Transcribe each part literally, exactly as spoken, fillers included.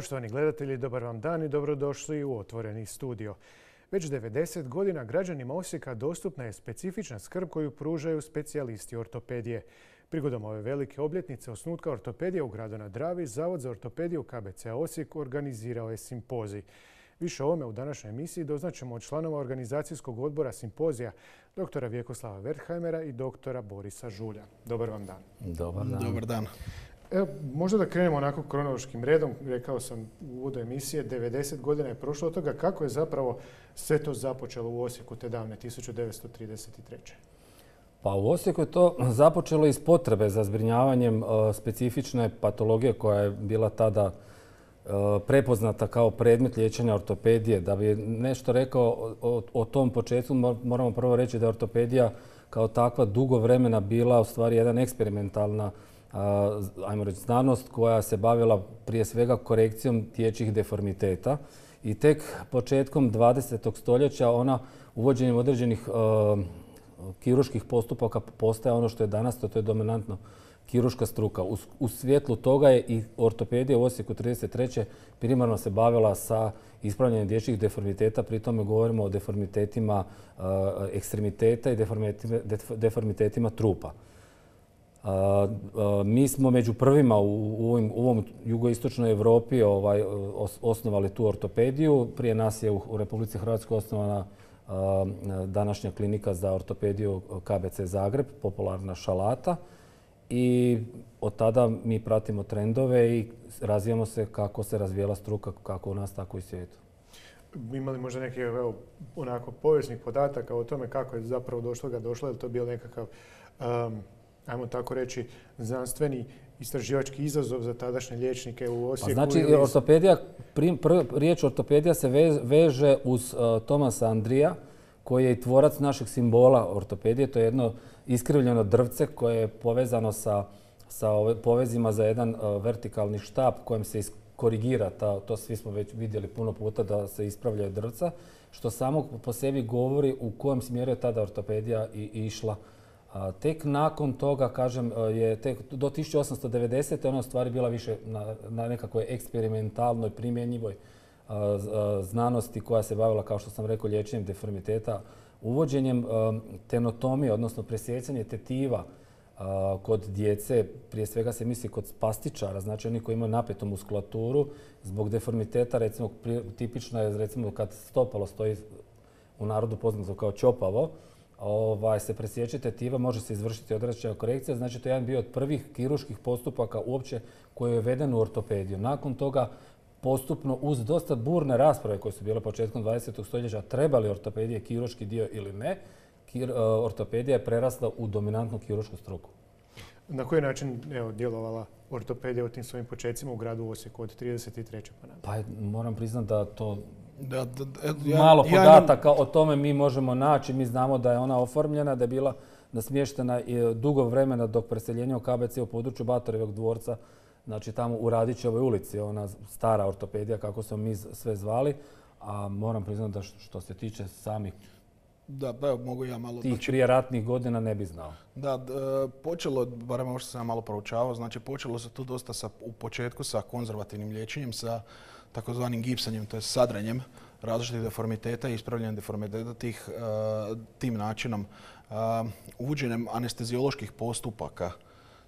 Poštovani gledatelji, dobar vam dan i dobrodošli u Otvoreni studio. Već devedeset godina građanima Osijeka dostupna je specifična skrb koju pružaju specijalisti ortopedije. Prigodom ove velike obljetnice osnutka ortopedije u gradu na Dravi, Zavod za ortopediju K B C Osijek organizirao je simpozij. Više o ovome u današnjoj emisiji doznaćemo od članova organizacijskog odbora simpozija doktora Vjekoslava Wertheimera i doktora Borisa Žulja. Dobar vam dan. Dobar dan. Dobar dan. Evo, možda da krenemo onako kronološkim redom. Rekao sam u uvodu emisije, devedeset godina je prošlo od toga. Kako je zapravo sve to započelo u Osijeku te davne tisuću devetsto trideset treće. Pa u Osijeku je to započelo iz potrebe za zbrinjavanjem uh, specifične patologije koja je bila tada uh, prepoznata kao predmet liječenja ortopedije. Da bi nešto rekao o, o tom početku, moramo prvo reći da je ortopedija kao takva dugo vremena bila u stvari jedan eksperimentalna ajmo reći, znanost koja se bavila prije svega korekcijom dječjih deformiteta i tek početkom dvadesetog stoljeća ona uvođenjem određenih uh, kirurških postupaka postaje ono što je danas, to je dominantno kirurška struka. U, u svjetlu toga je i ortopedija u Osijeku trideset treće primarno se bavila sa ispravljanjem dječjih deformiteta, pri tome govorimo o deformitetima uh, ekstremiteta i deformitetima, deformitetima trupa. Uh, uh, mi smo među prvima u, u, ovim, u ovom jugoistočnoj Europi ovaj, os, osnovali tu ortopediju. Prije nas je u, u Republici Hrvatskoj osnovana uh, današnja klinika za ortopediju K B C Zagreb, popularna Šalata. I od tada mi pratimo trendove i razvijamo se kako se razvijela struka, kako u nas, tako i u svijetu. Imali možda neke evo, onako povijesnih podataka o tome kako je zapravo došlo ga došlo, je li to bio nekakav um, ajmo tako reći, znanstveni istraživački izazov za tadašnje liječnike u Osijeku? Pa znači, ili... ortopedija, pr, pr, riječ ortopedija se veže, veže uz uh, Thomasa Andrija, koji je i tvorac našeg simbola ortopedije. To je jedno iskrivljeno drvce koje je povezano sa, sa ove, povezima za jedan uh, vertikalni štap kojem se korigira, ta, to svi smo već vidjeli puno puta da se ispravljaju drvca, što samo po sebi govori u kojem smjeru je tada ortopedija i, i išla. A tek nakon toga, kažem, je tek do tisuću osamsto devedesete ona u stvari bila više na, na nekakvoj eksperimentalnoj, primjenjivoj a, a, znanosti koja se bavila, kao što sam rekao, liječenjem deformiteta, uvođenjem a, tenotomije, odnosno presjecanje tetiva a, kod djece. Prije svega se misli kod spastičara, znači oni koji imaju napetu muskulaturu zbog deformiteta, recimo tipično je recimo kad stopalo stoji u narodu poznato kao ćopavo, Ovaj, se presječe tetiva, može se izvršiti određena korekcija. Znači, to je jedan bio od prvih kirurških postupaka uopće koji je uveden u ortopediju. Nakon toga, postupno uz dosta burne rasprave koje su bile početkom dvadesetog stoljeća, treba li ortopedije kirurški dio ili ne, kir, ortopedija je prerasla u dominantnu kiruršku struku. Na koji način evo, djelovala ortopedija u tim svojim početcima u gradu Osijeku od trideset treće pa nadalje? Pa moram priznati da to Da, da, da, ja, malo ja podataka imam... o tome mi možemo naći. Mi znamo da je ona oformljena, da je bila nasmještena dugo vremena dok preseljenje u K B C u području Batorevog dvorca, znači tamo u Radićevoj ulici, ona stara ortopedija kako smo mi sve zvali. A moram priznati da što se tiče samih Da, pa mogu ja malo... tih prije ratnih godina ne bi znao. Da, da počelo, barem ovo što sam ja malo proučavao, znači počelo se tu dosta sa, u početku sa konzervativnim liječenjem, sa takozvanim gipsanjem, to je sadranjem različitih deformiteta i ispravljanjem deformiteta tih, uh, tim načinom. Uh, uvođenjem anestezioloških postupaka,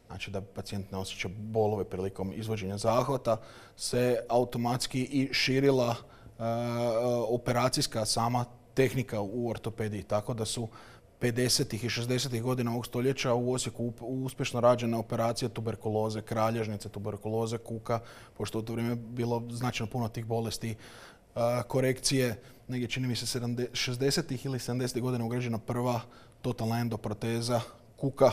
znači da pacijent ne osjeća bolove prilikom izvođenja zahvata, se automatski i širila uh, operacijska sama tehnika u ortopediji, tako da su pedesetih i šezdesetih godina ovog stoljeća u Osijeku uspješno rađena operacija tuberkuloze, kralježnice, tuberkuloze kuka, pošto u to vrijeme bilo značajno puno tih bolesti, korekcije, negdje čini mi se šezdesetih ili sedamdesetih godina ugrađena prva totalna endoproteza kuka,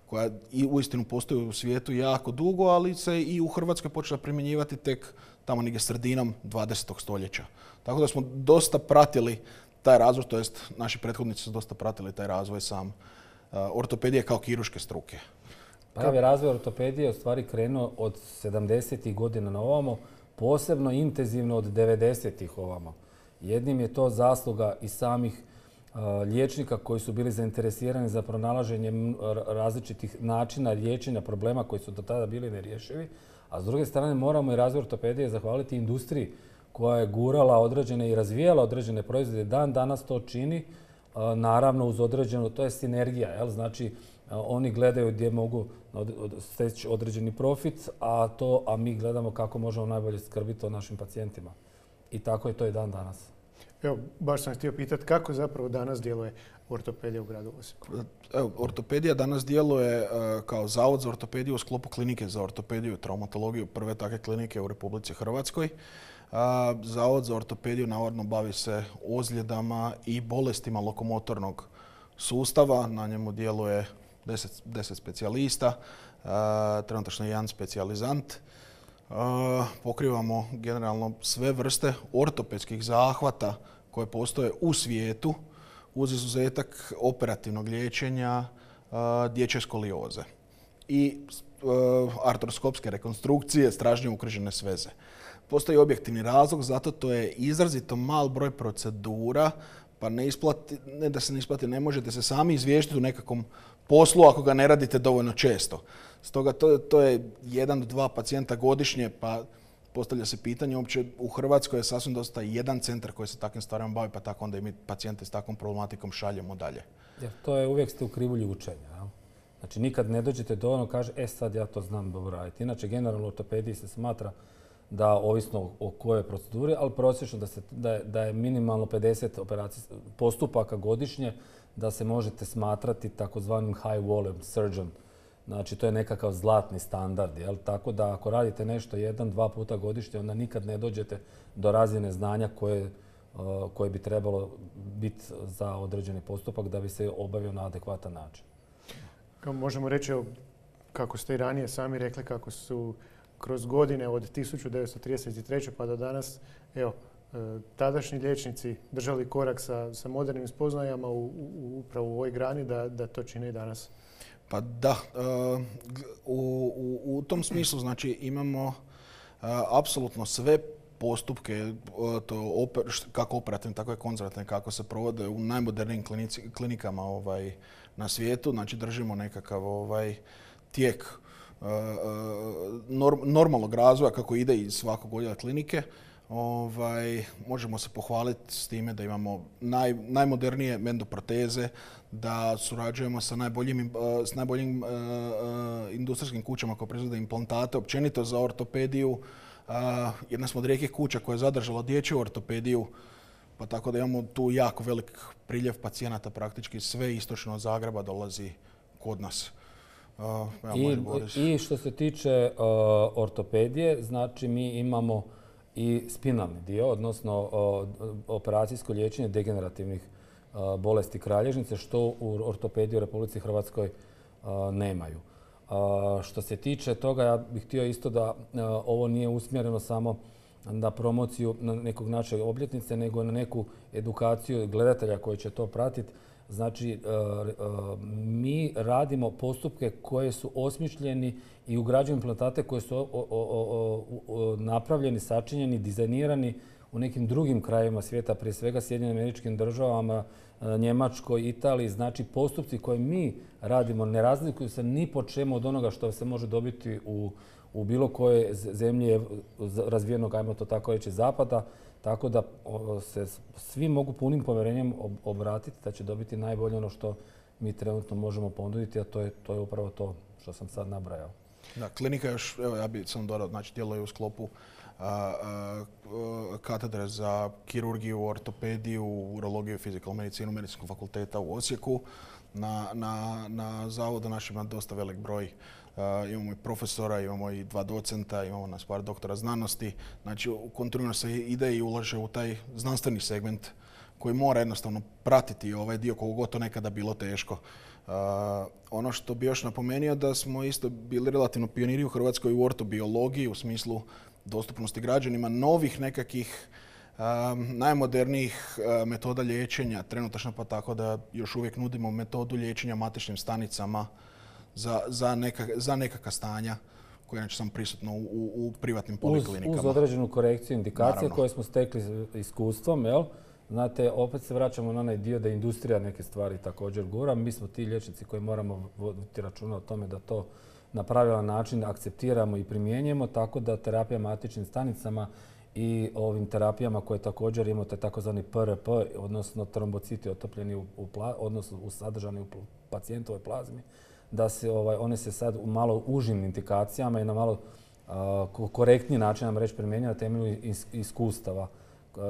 koja i uistinu postoji u svijetu jako dugo, ali se i u Hrvatskoj počela primjenjivati tek tamo negdje sredinom dvadesetog stoljeća. Tako da smo dosta pratili taj razvoj, to jest naši prethodnici su dosta pratili taj razvoj sam uh, ortopedije kao kirurške struke. Pravi razvoj ortopedije je u stvari krenuo od sedamdesetih godina na ovamo, posebno intenzivno od devedesetih ovamo. Jednim je to zasluga i samih uh, liječnika koji su bili zainteresirani za pronalaženje različitih načina liječenja problema koji su do tada bili nerješivi, A s druge strane moramo i razvoj ortopedije zahvaliti industriji koja je gurala određene i razvijala određene proizvode. Dan danas to čini, naravno uz određenu, to je sinergija, jel? Znači oni gledaju gdje mogu steći određeni profit, a, to, a mi gledamo kako možemo najbolje skrbiti o našim pacijentima. I tako je to i dan danas. Evo, baš sam htio pitati kako zapravo danas djeluje ortopedija u gradu Osijeku? Evo, ortopedija danas djeluje uh, kao zavod za ortopediju u sklopu klinike za ortopediju i traumatologiju, prve takve klinike u Republici Hrvatskoj. Uh, zavod za ortopediju navodno bavi se ozljedama i bolestima lokomotornog sustava. Na njemu djeluje deset, deset specijalista, uh, trenutačno jedan specijalizant. Uh, pokrivamo generalno sve vrste ortopedskih zahvata koje postoje u svijetu, uz izuzetak operativnog liječenja uh, dječje skolioze i uh, artroskopske rekonstrukcije stražnje ukrižene sveze. Postoji objektivni razlog, zato to je izrazito mal broj procedura, pa ne, isplati, ne da se ne isplati, ne možete se sami izvještiti u nekakvom poslu ako ga ne radite dovoljno često. Stoga to, to je jedan do dva pacijenta godišnje, pa postavlja se pitanje, uopće u Hrvatskoj je sasvim dosta jedan centar koji se takvim stvarima bavi, pa tako onda i mi pacijente s takvom problematikom šaljemo dalje. Jer to je uvijek ste u krivulji učenja. Jel? Znači nikad ne dođete dovoljno, kaže, e sad ja to znam dobro raditi. Inače, generalno u ortopediji se smatra da, ovisno o kojoj proceduri, ali prosječno da, se, da, je, da je minimalno pedeset postupaka godišnje, da se možete smatrati takozvanim high volume surgeon. Znači, to je nekakav zlatni standard. Jel? Tako da ako radite nešto jedan, dva puta godišnje, onda nikad ne dođete do razine znanja koje, uh, koje bi trebalo biti za određeni postupak da bi se obavio na adekvatan način. Možemo reći, kako ste i ranije sami rekli, kako su kroz godine od tisuću devetsto trideset treće pa do danas, evo, tadašnji liječnici držali korak sa, sa modernim spoznajama u, u, upravo u ovoj grani da, da to čine i danas. Pa da, u, u, u tom smislu znači imamo apsolutno sve postupke, to oper, kako operativne, tako i konzervativne, kako se provode u najmodernijim klinici, klinikama ovaj, na svijetu. Znači držimo nekakav ovaj, tijek norm, normalnog razvoja kako ide iz svakog odjela klinike. Ovaj, možemo se pohvaliti s time da imamo naj, najmodernije endoproteze, da surađujemo sa najboljim, s najboljim uh, uh, industrijskim kućama koje proizvode implantate, općenito za ortopediju. Uh, jedna smo od rijetkih kuća koja je zadržala dječju ortopediju, pa tako da imamo tu jako velik priljev pacijenata, praktički sve istočno od Zagreba dolazi kod nas. Uh, I, I što se tiče uh, ortopedije, znači mi imamo i spinalni dio, odnosno uh, operacijsko liječenje degenerativnih uh, bolesti kralježnice, što u ortopediji u Republici Hrvatskoj uh, nemaju. Uh, što se tiče toga, ja bih htio isto da uh, ovo nije usmjereno samo na promociju na nekog naše obljetnice, nego na neku edukaciju gledatelja koji će to pratiti. Znači, mi radimo postupke koje su osmišljeni i ugrađuju implantate koje su o, o, o, o, napravljeni, sačinjeni, dizajnirani u nekim drugim krajevima svijeta, prije svega Sjedinjenim Američkim Državama, Njemačkoj, Italiji. Znači, postupci koje mi radimo ne razlikuju se ni po čemu od onoga što se može dobiti u, u bilo koje zemlje razvijenog, ajmo to tako reći, zapada. Tako da se svi mogu punim povjerenjem obratiti da će dobiti najbolje ono što mi trenutno možemo ponuditi, a to je, to je upravo to što sam sad nabrajao. Da, klinika još, evo ja bih sam dodao, znači djeluje u sklopu a, a, a, katedre za kirurgiju, ortopediju, urologiju, fizikalnu medicinu Medicinskog fakulteta u Osijeku. Na, na, na zavodu našem ima dosta velik broj. Uh, imamo i profesora, imamo i dva docenta, imamo nas par doktora znanosti. Znači, kontinuirano se ide i ulaže u taj znanstveni segment koji mora jednostavno pratiti ovaj dio koliko god to nekada bilo teško. Uh, ono što bi još napomenuo da smo isto bili relativno pioniri u Hrvatskoj u ortobiologiji u smislu dostupnosti građanima novih nekakvih Um, najmodernijih uh, metoda liječenja trenutačno, pa tako da još uvijek nudimo metodu liječenja matičnim stanicama za, za, neka, za nekakva stanja koje inače sam prisutno u, u, u privatnim poliklinikama. Uz, uz određenu korekciju indikacije Naravno. Koje smo stekli iskustvom, jel? Znate, opet se vraćamo na onaj dio da industrija neke stvari također gura. Mi smo ti liječnici koji moramo voditi računa o tome da to na pravilan način akceptiramo i primjenjujemo, tako da terapija matičnim stanicama i ovim terapijama koje također imamo, to je takozvani P R P, odnosno trombociti otopljeni u, u pla, odnosno u sadržani u pacijentovoj plazmi, da se ovaj, one se sad u malo užim indikacijama i na malo uh, korektniji način nam reći primjenjuju na temelju is, iskustava,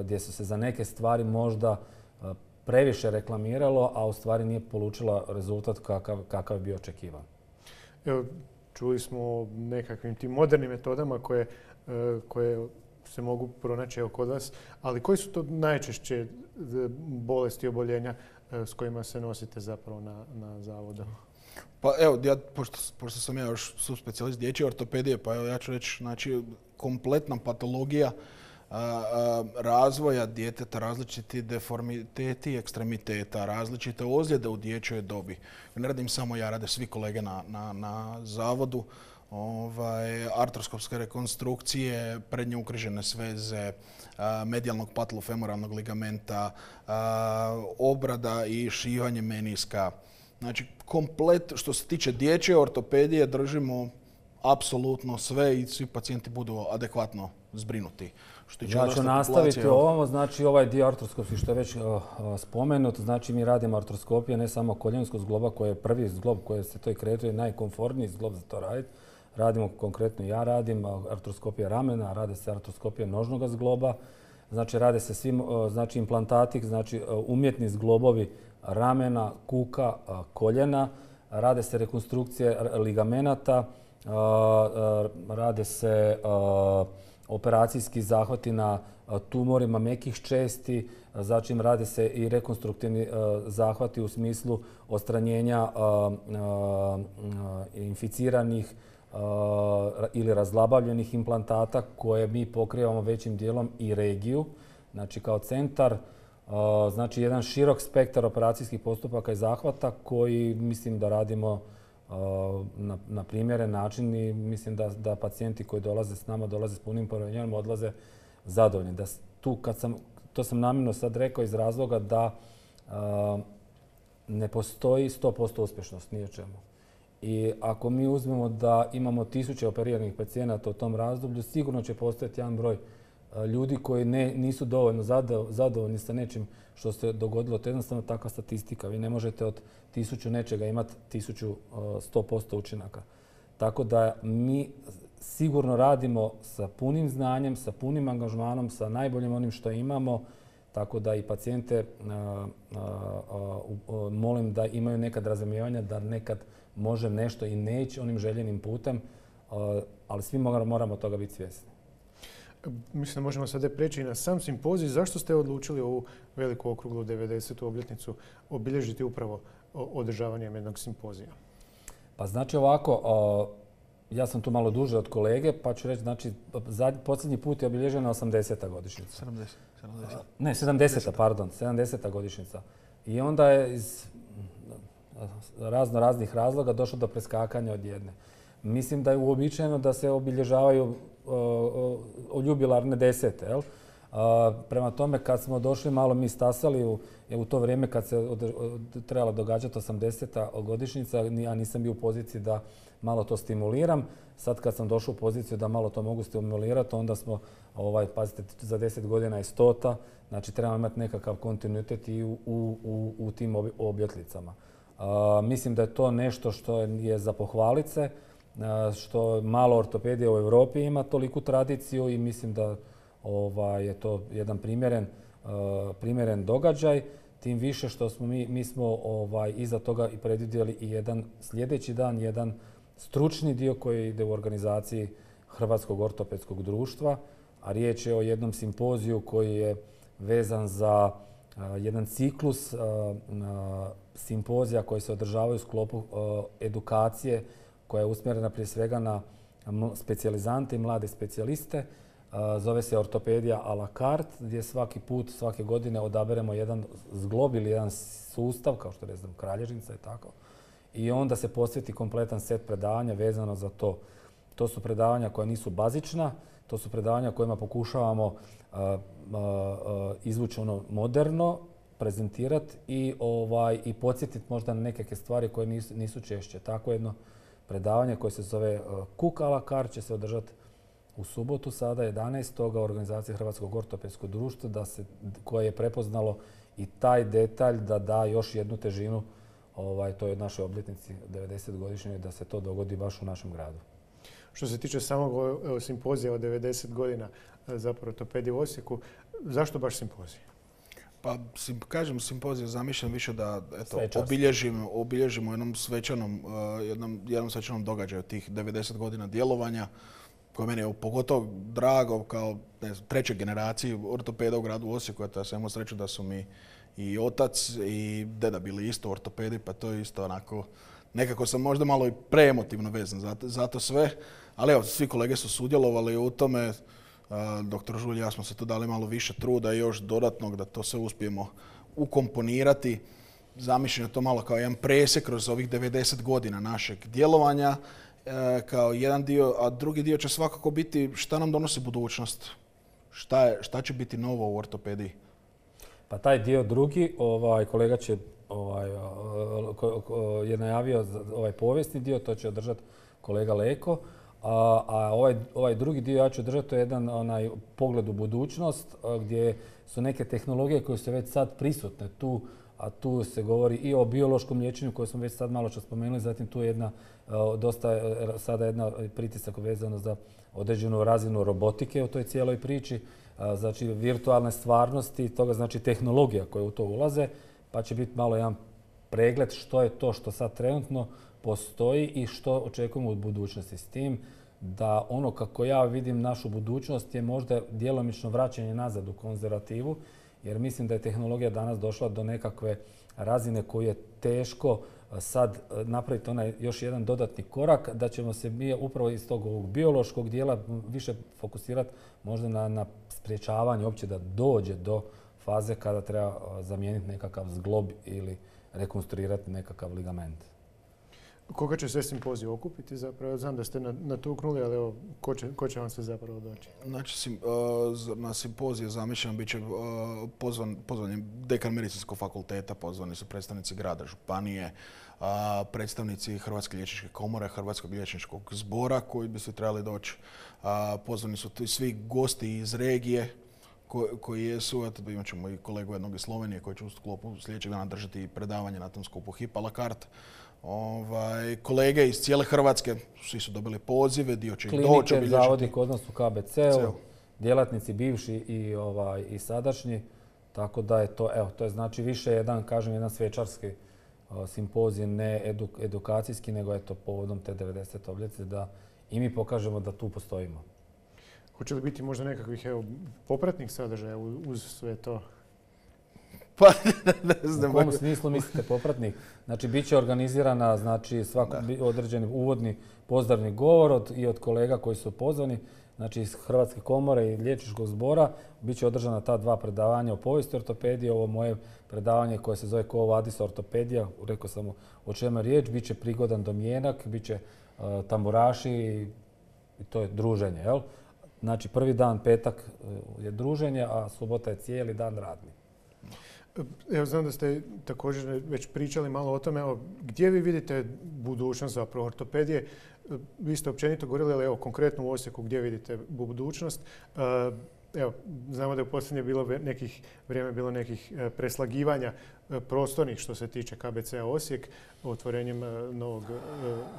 gdje su se za neke stvari možda uh, previše reklamiralo, a u stvari nije polučila rezultat kakav, kakav je bio očekivan. Evo, čuli smo o nekakvim tim modernim metodama koje, uh, koje se mogu pronaći evo kod vas, ali koji su to najčešće bolesti i oboljenja s kojima se nosite zapravo na, na zavodu? Pa evo, ja, pošto, pošto sam ja još subspecijalist dječje ortopedije, pa evo ja ću reći, znači, kompletna patologija a, a, razvoja djeteta, različiti deformiteti ekstremiteta, različite ozljede u dječjoj dobi. Ne radim samo ja, rade svi kolege na, na, na zavodu. Ovaj, artroskopske rekonstrukcije, prednje ukrižene sveze, medijalnog patulofemoralnog ligamenta, obrada i šivanje meniska. Znači, komplet što se tiče dječje ortopedije držimo apsolutno sve i svi pacijenti budu adekvatno zbrinuti. Što ja ću nastaviti ovamo, znači ovaj dio artroskopski što je već uh, spomenut, znači mi radimo artroskopije ne samo koljenskog zgloba koji je prvi zglob koji se to i kretuje, najkomfortniji zglob za to raditi. Radimo konkretno, ja radim artroskopije ramena, rade se artroskopije nožnog zgloba, znači rade se svim, znači implantati, znači umjetni zglobovi ramena, kuka, koljena, rade se rekonstrukcije ligamenata, rade se operacijski zahvati na tumorima mekih česti, zatim rade se i rekonstruktivni zahvati u smislu odstranjenja inficiranih ili razlabavljenih implantata koje mi pokrivamo većim dijelom i regiju, znači kao centar, znači jedan širok spektar operacijskih postupaka i zahvata koji mislim da radimo na, na primjeren način i mislim da, da pacijenti koji dolaze s nama dolaze s punim povjerenjem, odlaze zadovoljni. Da tu kad sam, to sam namjerno sad rekao iz razloga da a, ne postoji sto posto uspješnost ni o čemu. I ako mi uzmemo da imamo tisuće operiranih pacijenata u tom razdoblju, sigurno će postojati jedan broj ljudi koji ne, nisu dovoljno zadovoljni sa nečim što se dogodilo. To je jednostavno takva statistika. Vi ne možete od tisuću nečega imati tisuću sto posto učinaka. Tako da mi sigurno radimo sa punim znanjem, sa punim angažmanom, sa najboljim onim što imamo. Tako da i pacijente a, a, a, molim da imaju nekad razumijevanja da nekad može nešto i neći onim željenim putem, a, ali svi moramo toga biti svjesni. Mislim da možemo sada preći na sam simpozij. Zašto ste odlučili ovu veliku okruglu devedesetu obljetnicu obilježiti upravo održavanjem jednog simpozija? Pa znači ovako, a, ja sam tu malo duže od kolege, pa ću reći, znači, zadnji, posljednji put je obilježena osamdeseta godišnjica. sedamdeset. sedamdeset. Ne, sedamdeseta, pardon, sedamdeseta godišnjica. I onda je iz razno raznih razloga došlo do preskakanja od jedne. Mislim da je uobičajeno da se obilježavaju uh, jubilarne desete, jel? Uh, prema tome, kad smo došli, malo mi stasali u, u to vrijeme kad se od, od, trebala događati osamdeseta godišnjica, ja nisam bio u poziciji da malo to stimuliram. Sad kad sam došao u poziciju da malo to mogu stimulirati, onda smo, ovaj, pazite, za deset godina je stota, znači trebamo imati nekakav kontinuitet i u, u, u, u tim obljetnicama. Uh, mislim da je to nešto što je za pohvalit se, što malo ortopedije u Europi ima toliku tradiciju i mislim da ovaj, je to jedan primjeren, uh, primjeren događaj. Tim više što smo mi, mi smo ovaj, iza toga i predvidjeli i jedan sljedeći dan, jedan stručni dio koji ide u organizaciji Hrvatskog ortopedskog društva, a riječ je o jednom simpoziju koji je vezan za uh, jedan ciklus uh, uh, simpozija koji se održavaju u sklopu uh, edukacije koja je usmjerena prije svega na specijalizante i mlade specijaliste. Zove se ortopedija a la carte, gdje svaki put, svake godine odaberemo jedan zglob ili jedan sustav, kao što je, ne znam, kralježnica i tako. I onda se posveti kompletan set predavanja vezano za to. To su predavanja koja nisu bazična, to su predavanja kojima pokušavamo uh, uh, izvući ono moderno, prezentirati i, ovaj, i podsjetiti možda na nekakve stvari koje nisu, nisu češće. Tako jedno predavanje koje se zove Cook a la carte, će se održati u subotu sada, jedanaestog organizacije Hrvatskog ortopedskog društva, da se, koje je prepoznalo i taj detalj da da još jednu težinu ovaj, toj našoj obljetnici devedesetogodišnjoj, da se to dogodi baš u našem gradu. Što se tiče samog evo, simpozija od devedeset godina zapravo ortopedije u Osijeku, zašto baš simpozij? Pa, sim, kažem, simpozij je zamišljen više da eto, obilježimo, obilježimo jednom svečanom, uh, jednom, jednom svečanom događaju tih devedeset godina djelovanja, koje meni je pogotovo drago kao ne znam, treće generaciji ortopeda u gradu Osijeku, a sam imao sreću da su mi i otac i deda bili isto ortopedi, pa to je isto onako, nekako sam možda malo i preemotivno vezan za, za to sve, ali evo, svi kolege su sudjelovali u tome. Doktor Žulj i ja smo se tu dali malo više truda i još dodatnog da to sve uspijemo ukomponirati. Zamišljeno to malo kao jedan presjek kroz ovih devedeset godina našeg djelovanja kao jedan dio, a drugi dio će svakako biti šta nam donosi budućnost, šta, je, šta će biti novo u ortopediji. Pa taj dio drugi, ovaj, kolega će, ovaj, je najavio ovaj povijesni dio, to će održati kolega Leko. A, a ovaj, ovaj drugi dio ja ću držati, to je jedan onaj pogled u budućnost gdje su neke tehnologije koje su već sad prisutne tu, a tu se govori i o biološkom liječenju koje smo već sad malo što spomenuli, zatim tu je jedna, dosta sada jedna pritisak vezano za određenu razinu robotike u toj cijeloj priči, znači virtualne stvarnosti, toga znači tehnologija koje u to ulaze, pa će biti malo jedan pregled što je to što sad trenutno postoji i što očekujemo od budućnosti. S tim da ono kako ja vidim našu budućnost je možda djelomično vraćanje nazad u konzervativu, jer mislim da je tehnologija danas došla do nekakve razine koju je teško sad napraviti onaj još jedan dodatni korak, da ćemo se mi upravo iz tog ovog biološkog dijela više fokusirati možda na, na spriječavanje uopće da dođe do faze kada treba zamijeniti nekakav zglob ili rekonstruirati nekakav ligament. Koga će sve simpozij okupiti zapravo? Znam da ste natuknuli, ali evo, ko će, ko će vam se zapravo doći? Znači, sim, uh, na simpozije zamišljam bit će uh, pozvan, pozvan je dekan medicinskog fakulteta, pozvani su predstavnici grada, županije, uh, predstavnici Hrvatske liječničke komore, Hrvatskog liječničkog zbora koji bi se trebali doći. Uh, pozvani su tu svi gosti iz regije ko, koji jesu. Eto, imat ćemo i kolegu jednog iz Slovenije koji će u sklopu sljedećeg dana držati predavanje na tom skupu H I P a la carte. Ovaj, kolege iz cijele Hrvatske, svi su dobili pozive, dio će ih doći. Klinike, zavodi kod nas u K B C-u, djelatnici bivši i, ovaj, i sadašnji, tako da je to, evo, to je znači više jedan, kažem, jedan svečarski uh, simpozij, ne eduk, edukacijski, nego eto povodom te devedesete obljetnice da i mi pokažemo da tu postojimo. Hoće li biti možda nekakvih evo, popratnih sadržaja uz sve to? Pa, ne znam. U kom smislu mislite popratnih? Znači, bit će organizirana znači, svako određeni uvodni pozdravni govor od, i od kolega koji su pozvani, znači iz Hrvatske komore i liječničkog zbora. Bit će održana ta dva predavanja o povijesti ortopedije. Ovo moje predavanje koje se zove Quo Vadis ortopedija, rekao sam o čemu je riječ, bit će prigodan domjenak, bit će uh, tamburaši i, i to je druženje. Jel? Znači, prvi dan, petak je druženje, a subota je cijeli dan radni. Evo, znam da ste također već pričali malo o tome. Evo, gdje vi vidite budućnost zapravo ortopedije? Vi ste općenito govorili, ali evo, konkretno u Osijeku gdje vidite budućnost? Evo, znamo da je u posljednje bilo nekih vrijeme bilo nekih preslagivanja prostornih što se tiče K B C-a Osijek, otvorenjem novog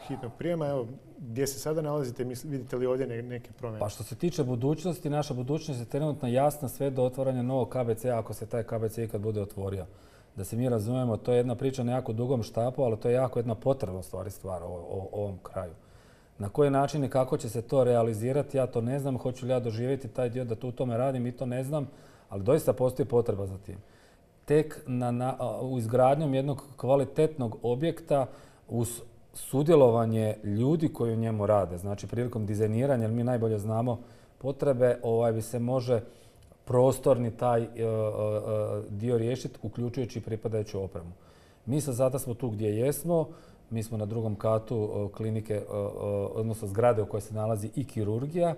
hitnog prijema. Evo, gdje se sada nalazite? Vidite li ovdje neke promjene? Pa što se tiče budućnosti, naša budućnost je trenutno jasna sve do otvaranja novog K B C-a ako se taj K B C ikad bude otvorio. Da se mi razumijemo, to je jedna priča na jako dugom štapu, ali to je jako jedna potrebna stvari stvar o, o ovom kraju. Na koji način i kako će se to realizirati, ja to ne znam. Hoću li ja doživjeti taj dio da tu u tome radim i to ne znam, ali doista postoji potreba za tim. Tek na, na, u izgradnjom jednog kvalitetnog objekta uz sudjelovanje ljudi koji u njemu rade, znači prilikom dizajniranja, jer mi najbolje znamo potrebe, ovaj bi se može prostorni taj uh, uh, dio riješiti, uključujući pripadajuću opremu. Mi sad zato smo tu gdje jesmo. Mi smo na drugom katu klinike, odnosno zgrade u kojoj se nalazi i kirurgija.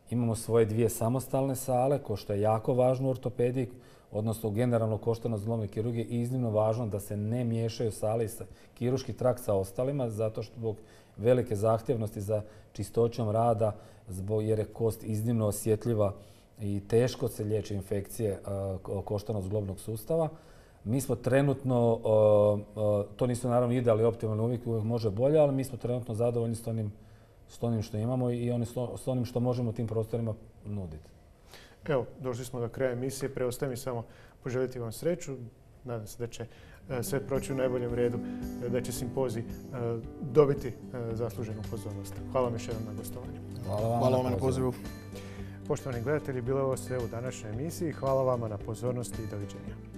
Imamo svoje dvije samostalne sale, ko što je jako važno u ortopediji. odnosno generalno koštano zglobne kirurgije, iznimno važno da se ne miješaju sale i kirurški trakt sa ostalima, zato što zbog velike zahtjevnosti za čistoćom rada, zbog, jer je kost iznimno osjetljiva i teško se liječe infekcije koštano zglobnog sustava. Mi smo trenutno, to nisu naravno idealni optimalni uvijek, uvijek može bolje, ali mi smo trenutno zadovoljni s onim, s onim što imamo i oni s onim što možemo u tim prostorima nuditi. Evo, došli smo do kraja emisije. Preostaje mi samo poželjeti vam sreću. Nadam se da će sve proći u najboljem redu, da će simpozij dobiti zasluženu pozornost. Hvala vam još jednom na gostovanju. Hvala vam na pozivu. Poštovani gledatelji, bilo je ovo sve u današnjoj emisiji. Hvala vama na pozornosti i doviđenja.